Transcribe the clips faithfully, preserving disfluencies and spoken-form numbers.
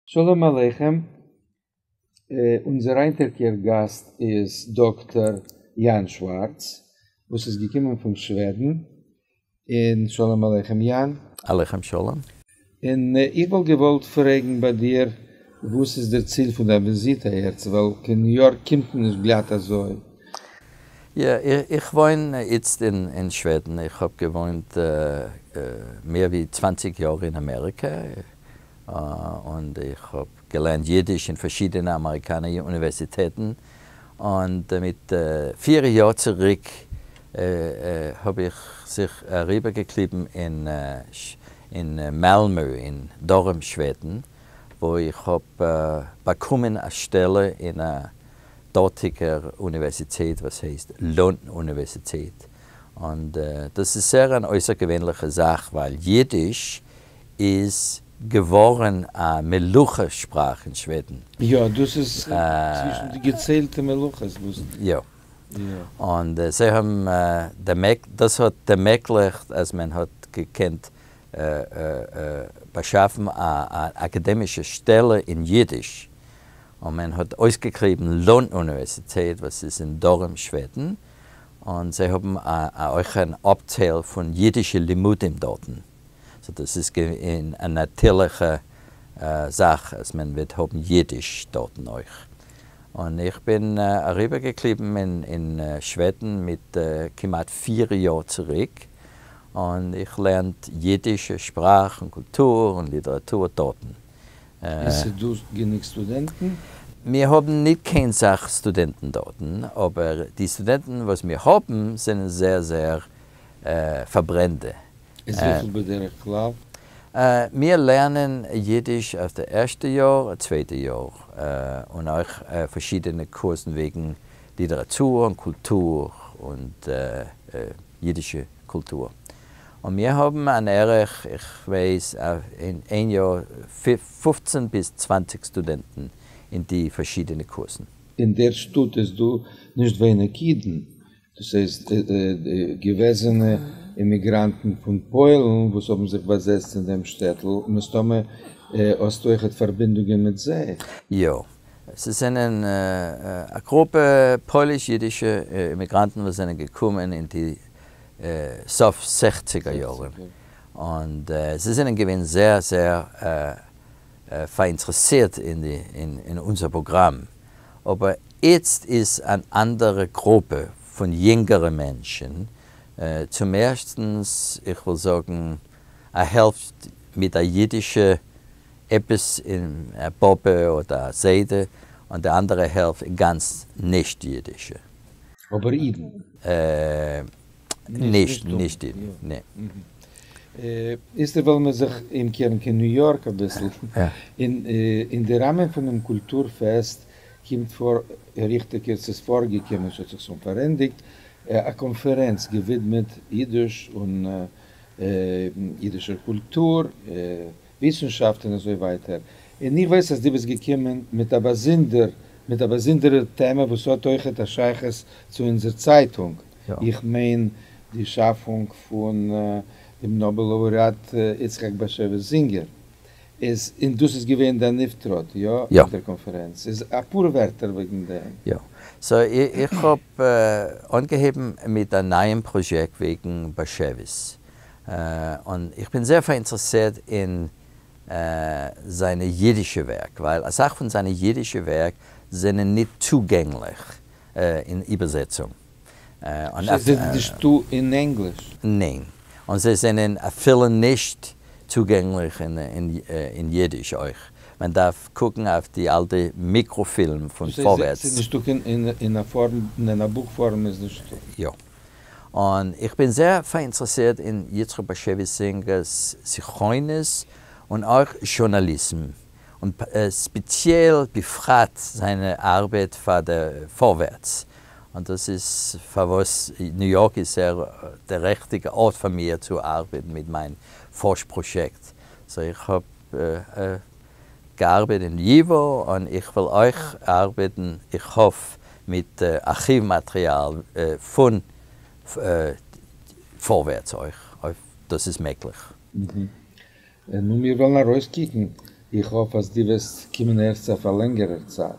שלום עליכם, אונזער היינטיגער גאסט איז דאקטאר יאן שווארץ, וואס איז געקומען פון שוועדן, און שלום עליכם יאן. עליכם שלום. און איך וואלט געוואלט פרעגן ביי דיר, וואס איז דער ציל פון דיין וויזיט אהערצו, ווייל קיין ניו יארק קומט מען נישט גלאט אזוי. יא, איך וואוין איצט אין שוועדן, איך האב געוואוינט מער ווי צוואַנציק יאר אין אמעריקע, און איך האב געלערנט אידיש אין פארשידענע אמעריקאנער אוניווערסיטעטן, און מיט פיר יאר צוריק האב איך זיך אריבערגעקליבן אין מאלמא אין דרום שוועדן, וואו איך האב באקומען א שטעלע אין א דארטיגער אוניווערסיטעט וואס הייסט לונד אוניווערסיטעט, און דאס איז זייער אן אויסערגעווענליכע זאך ווייל אידיש איז געווארן א מלוכה שפראך אין שוועדן. יא, דאס איז צווישן די געציילטע מלוכות וואס. יא. און זיי האבן דאס האט ערמעגליכט אז מען האט געקענט באשאפן א אקאדעמישע שטעלע אין אידיש, און מען האט אויסגעקליבן לונד אוניווערסיטעט וואס איז אין דרום שוועדן, און זיי האבן אויך אן אפטייל פון אידישע לימודים דארטן. so דאס איז געווען א נאטירליכע זאך אז מען וועט האבן אידיש דארטן אויך. און איך בין אריבערגעקליבן אין שוועדן מיט כמעט פיר יאר צוריק, און איך לערן אידישע שפראך און קולטור און ליטעראטור דארטן. עס איז דא גענוג סטודענטן? מיר האבן ניט קיין סך סטודענטן דארטן, אבער די סטודענטן וואס מיר האבן זענען זייער זייער פארברענטע. איז וויפיל בדרך כלל? מיר לערנען אידיש אויף די ערשטע יאר, צווייטע יאר, און אויך פארשידענע קורסן וועגן ליטעראטור און קולטור און אידישע קולטור. און מיר האבן אן ערך, איך ווייס, אין איין יאר פֿופֿצן ביז צוואַנציק סטודענטן אין די פארשידענע קורסן. אין דער שטאט איז דא נישט ווייניג אידן, דאס הייסט געוועזענע אימיגראנטן פון פוילן וואס האבן זיך באזעצט אין דעם שטעטל, מסתמא האסטו אויכעט פארבינדונגען מיט זיי. יא, ס'זענען א גרופע פויליש-אידישע אימיגראנטן וואס זענען געקומען אין די סוף זעכציגער יארן, און זיי זענען געווען זייער זייער פאראינטערעסירט אין אונזער פראגראם, אבער איצט איז אן אנדערע גרופע פון יונגערע מענטשן, צום ערשטנס, איך וויל זאגן א העלפט מיט א אידישע עפעס אין א באבע אדער א זיידע, און די אנדערע העלפט גאנץ נישט אידישע. אבער אידן? נישט נישט אידן, ניין. איצטער וועלן מיר זיך אומקערן קיין ניו יארק אביסל. אין די ראמען פונעם קולטור פעסט קומט פאר, ריכטיגער ס'איז פארגעקומען, ס'האט זיך שוין פארענדיגט, א קאנפערענץ געווידמעט אידיש און אידישער קולטור, וויסנשאפט און אזוי ווייטער. און איך ווייס אז דו ביסט געקומען מיט א באזונדער, מיט א באזונדערער טעמע וואס האט אויכעט א שייכות צו אונזער צייטונג. איך מיין די שאפונג פון דעם נאבעל לאורעאט יצחק באשעוויס זינגער. איז, און דאס איז געווען דיין אויפטראט, יא? יא. אויף דער קאנפערענץ. איז אפאר ווערטער וועגן דעם. יא. so איך האב אנגעהויבן מיט א נייעם פראיעקט וועגן באשעוויס. און איך בין זייער פאראינטערעסירט אין זיינע אידישע ווערק, ווייל אסאך פון זיינע אידישע ווערק זענען ניט צוגענגליך אין איבערזעצונג. זיי זענען נישטא אין ענגליש? ניין. און זיי זענען אפילו נישט צוגענגליך אין אידיש אויך. מען דארף קוקן אויף די אלטע מיקראפילם פון פארווערטס. ס'איז נישטא קיין אין א פארם, אין א בוך פארם איז נישטא. יא. און איך בין זייער פאראינטערעסירט אין יצחק באשעוויס זינגער'ס זכרונות און אויך זשורנאליזם, און ספעציעל בפרט זיינע ארבעט פאר דער פארווערטס. און דאס איז פארוואס ניו יארק איז זייער דער ריכטיגער ארט פאר מיר צו ארבעטן מיט מיין פארש-פראיעקט. so איך האב געארבעט אין ייווא, און איך וויל אויך ארבעטן, איך האף, מיט ארכיוו מאטריאל פון פארווערטס אויך, אויב דאס איז מעגליך. נו, מיר וועלן ארויסקוקן. איך האף אז דו וועסט קומען ערשט אויף א לענגערער צייט.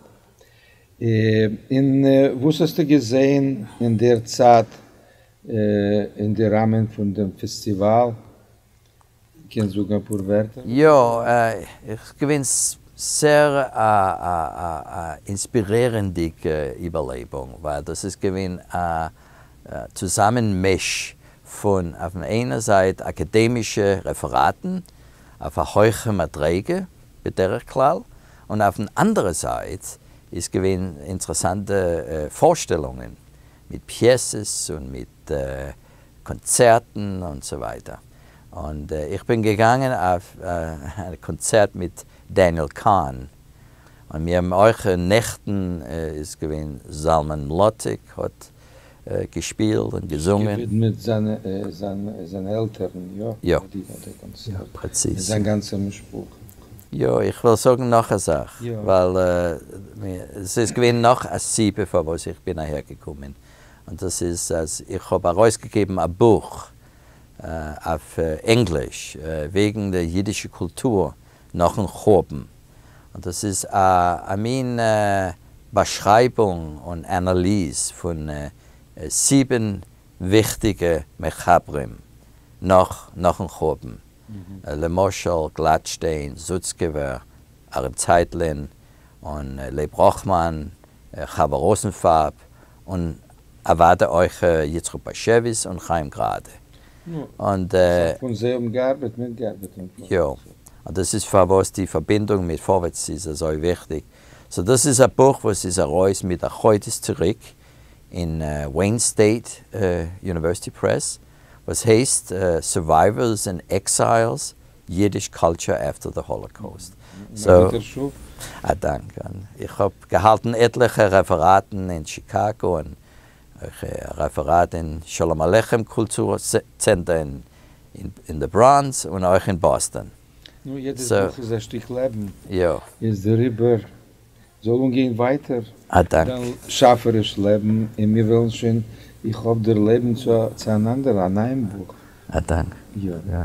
און וואס האסטו געזען אין דער צייט אין די ראמען פון דעם פעסטיוואל? קענסט זאגן אפאר ווערטער? יא, איך געווען זייער א אינספירירנדיגע איבערלעבונג, ווייל דאס איז געווען א צוזאמענמיש פון אויף דער איינער זייט אקאדעמישע רעפעראטן אויף א הויכע מדריגה בדרך כלל, און אויף דער אנדערע זייט איז געווען אינטערעסאנטע פארשטעלונגען מיט פיעסעס און מיט קאנצערטן און אזוי ווייטער. און איך בין געגאנגען אויף א קאנצערט מיט דעניעל קאהן. און מיר האבן אויך נעכטן איז געווען זלמן מלאטיק האט געשפילט און געזונגען. געווידמעט זיינע זיינע עלטערן, יא? יא. די קאנצערט. פרעציז. זיין גאנצע משפחה. יא, איך וויל זאגן נאך א זאך, יא. ווייל עס איז געווען נאך א סיבה פארוואס איך בין אהער געקומען. און דאס איז, אז איך האב ארויסגעגעבן א בוך אויף ענגליש וועגן דער אידישע קולטור נאכן חורבן. און דאס איז א מין באשרייבונג און אנאליז פון זיבן וויכטיגע מחברים נאך נאכן חורבן. למשל גלאטשטיין, סוצקעווער, אהרן צייטלין און לייב ראכמאן, חוה ראזנפארב און אוודאי אויך יצחק באשעוויס און חיים גראדע. און פון זיי האבן געארבעט, מיטגעארבעט. יא, און דאס איז פארוואס די פארבינדונג מיט פארווערטס איז אזוי וויכטיג. So דאס איז א בוך וואס איז ארויס מיט א חודש צוריק אין Wayne State University Press, וואס הייסט Survivors and Exiles, Yiddish Culture After the Holocaust. So, א דאנק. איך האב געהאלטן עטליכע רעפעראטן אין שיקאגא און א רעפעראט אין שלום עליכם קולטור צענטער אין אין די בראנקס און אויך אין באסטאן. נו, יעדעס בוך איז א שטיק לעבן. יא. איז דעריבער זאל אנגיין ווייטער. א דאנק. דיין שאפעריש לעבן, און מיר וועלן שוין, איך האף דערלעבן צו, צו אן אנדער, א נייעם בוך. א דאנק. יא. יא.